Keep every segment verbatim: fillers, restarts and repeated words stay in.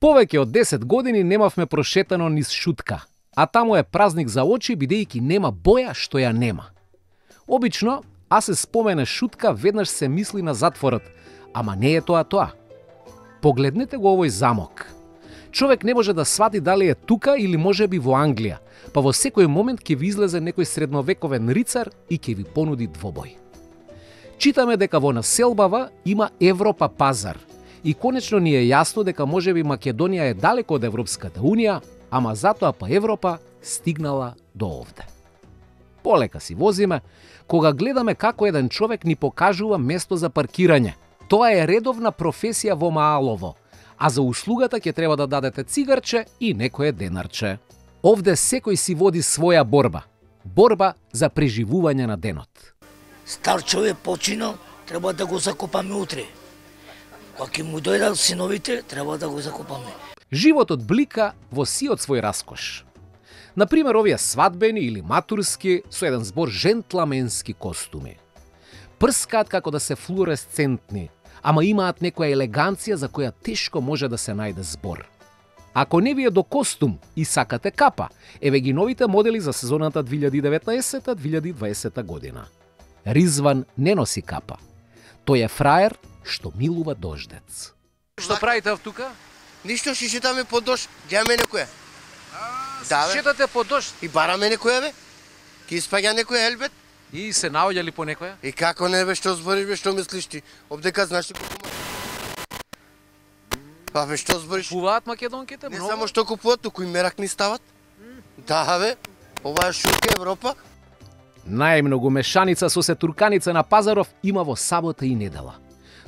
Повеќе од десет години немавме прошетано низ Шутка, а таму е празник за очи бидејќи нема боја што ја нема. Обично, а се спомене Шутка, веднаш се мисли на затворот, ама не е тоа тоа. Погледнете го овој замок. Човек не може да свати дали е тука или можеби во Англија, па во секој момент ќе ви излезе некој средновековен рицар и ќе ви понуди двобој. Читаме дека во населбава има Европа пазар и конечно ни е јасно дека можеби Македонија е далеко од Европската Унија, ама затоа па Европа стигнала до овде. Полека си возиме, кога гледаме како еден човек ни покажува место за паркирање. Тоа е редовна професија во Маалово, а за услугата ќе треба да дадете цигарче и некое денарче. Овде секој си води своја борба. Борба за преживување на денот. Стар човек починал, треба да го закопаме утре. Кога ќе му дојдат синовите, треба да го закопаме. Животот блика во сиот свој раскош. Например, овие свадбени или матурски со еден збор жентламенски костуми. Прскаат како да се флуоресцентни, ама имаат некоја елеганција за која тешко може да се најде збор. Ако не ви е до костум и сакате капа, еве ги новите модели за сезоната две илјади и деветнаесета две илјади и дваесета година. Ризван не носи капа. Тој е фраер што милува дождец. Што правите тука? Ништо, ще шетаме по дожд, гледаме некоја. Да, шетате по дожд? И бараме некоја, бе. Ки испаѓа некоја елбет. И се наоѓа ли по некоја? И како не, бе, што збориш, бе, што мислиш ти? Обдека знаеш ли колку Па, бе, што збориш? Купуваат македонките Не многу? само што купуваат, туку и мерак ни стават. Да, бе. Ова е Шутка Европа. Најмногу мешаница со се турканица на пазаров има во сабота и недела.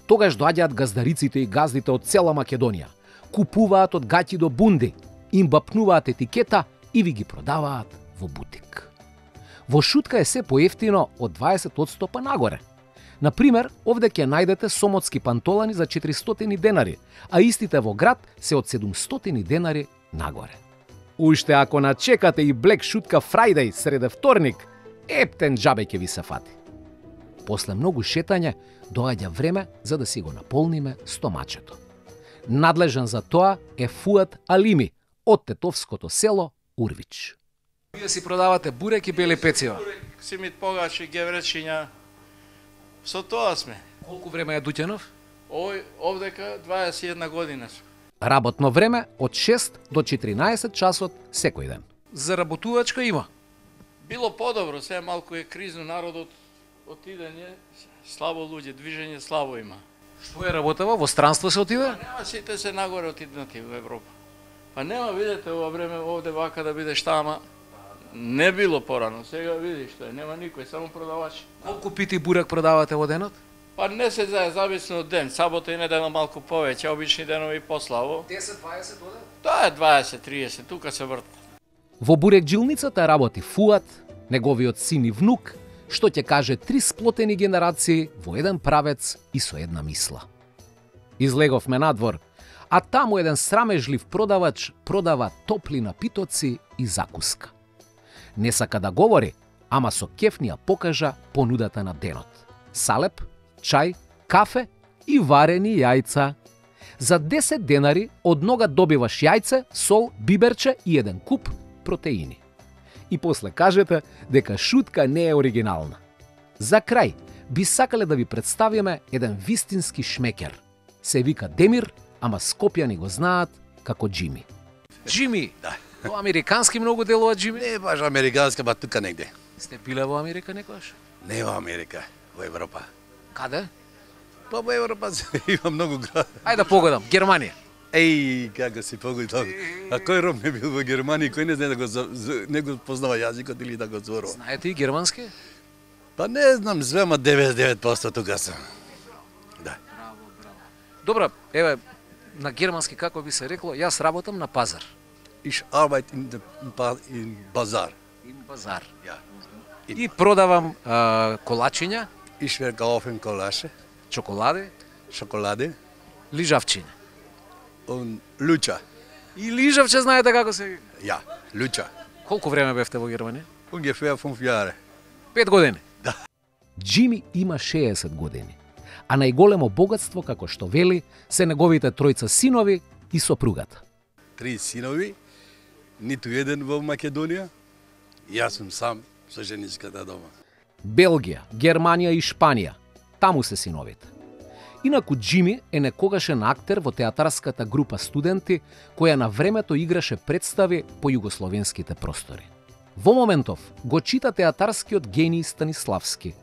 Тогаш доаѓаат газдариците и газдите од цела Македонија. Купуваат од гаќи до бунди, им бапнуваат етикета и ви ги продаваат во бутик. Во Шутка е се поевтино од дваесет одсто па нагоре. Например, овде ќе најдете сомотски пантолани за четиристотини денари, а истите во град се од седумстотини денари нагоре. Уште ако начекате и Black Шутка Friday среде вторник, ептен џабе ќе ви се фати. После многу шетање, доаѓа време за да си го наполниме стомачето. Надлежен за тоа е Фуат Алими од тетовското село Урвич. Вие си продавате бурек и бели пецива. Симит погачи, гевречиња. Со тоа сме. Колку време е Дуќанов? Овој овдека дваесет и една година сме. Работно време од шест до четиринаесет часот секој ден. Заработувачка има. Било подобро, сега малку е кризно, народот отидење, слабо луѓе, движење слабо има. Што е работева? Во странство се отиде? Нема, сите се нагоре отиднати во Европа. Па нема, видете, ова време овде вака да биде штама. Не било порано, сега види што е, нема никој, само продавачи. Колку пити бурек продавате во денот? Па не се знае, зависно од ден, сабота и недела малку повеќе, обични денови пославо. десет дваесет оден? Тоа е дваесет триесет, тука се врт. Во бурекджилницата работи Фуат, неговиот син и внук, што ќе каже три сплотени генерации во еден правец и со една мисла. Излеговме надвор, а таму еден срамежлив продавач продава топли напитоци и закуска. Не сака да говори, ама со кеф ни ја покажа понудата на денот. Салеп, чај, кафе и варени јајца. За десет денари од нога добиваш јајце, сол, биберче и еден куп протеини. И после кажете дека Шутка не е оригинална. За крај, би сакале да ви представиме еден вистински шмекер. Се вика Демир, ама скопјани го знаат како Джими. Джими? Да. Во американски многу делува Джими? Не баш американска, ба тука негде. Сте биле во Америка некојаш? Не во Америка, во Европа. Каде? Па во Европа има многу град. Ајде да погодам, Германија. Еј, како си погодам. А кој ром не бил во Германија, кој не знае да го не го познава јазикот или да го зборува? Знаете и германски? Па не знам, звема деветдесет и девет проценти тука сум. Да. Добро, еве на германски како би се рекло, јас работам на пазар. Ich arbeite in der in Bazar. In Bazar. Ja. И продавам а, колачиња, Ich verkaufe Kolasche, чоколади, Schokolade лижавчиња. und Lucha. И лижавче знаете како се вика? Ja, Lucha. Колку време бевте во Германија? Ungefähr fünf Jahre. Пет години. Джими има шеесет години, а најголемо богатство, како што вели, се неговите тројца синови и сопругата. Три синови, ниту еден во Македонија, јас сум сам со женичката дома. Белгија, Германија и Шпанија, таму се синовите. Инаку Џими е некогашен актер во театарската група студенти која на времето играше представи по југословенските простори. Во моментов го чита театарскиот гений Станиславски.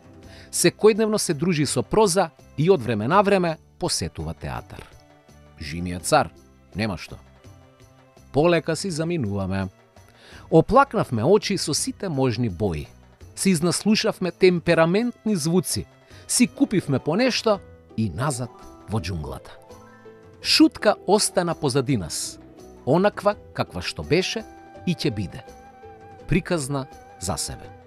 Секојдневно се дружи со проза и од време на време посетува театар. Џими е цар, нема што. Полека си заминуваме. Оплакнавме очи со сите можни бои. Си изнаслушавме темпераментни звуци. Си купивме по нешто и назад во џунглата. Шутка остана позади нас. Онаква каква што беше и ќе биде. Приказна за себе.